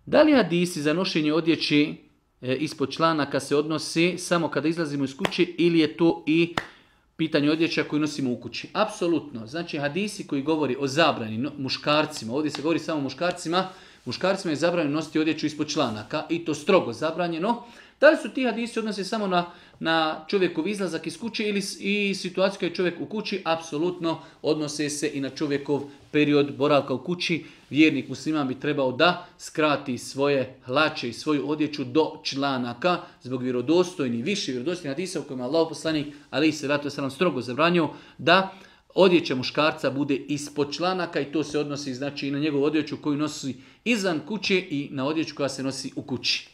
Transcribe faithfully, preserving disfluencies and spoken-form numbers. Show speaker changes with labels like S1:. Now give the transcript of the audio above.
S1: Da li hadisi za nošenje odjeći e, ispod članaka se odnosi samo kada izlazimo iz kuće ili je to i pitanje odjeća koju nosimo u kući? Apsolutno. Znači hadisi koji govori o zabrani no, muškarcima, ovdje se govori samo o muškarcima, muškarcima je zabranjeno nositi odjeću ispod članaka i to strogo zabranjeno. Da li su ti hadisi odnose samo na, na čovjekov izlazak iz kuće ili i situaciju kada je čovjek u kući? Apsolutno odnose se i na čovjekov period boravka u kući. Vjernik musliman bi trebao da skrati svoje hlače i svoju odjeću do članaka zbog vjerodostojnih, više vjerodostojnih hadisa u kojima Allah poslanik alejhi selatu vesselam strogo zabranio da odjeća muškarca bude ispod članaka i to se odnosi znači i na njegovu odjeću koju nosi izvan kuće i na odjeću koja se nosi u kući.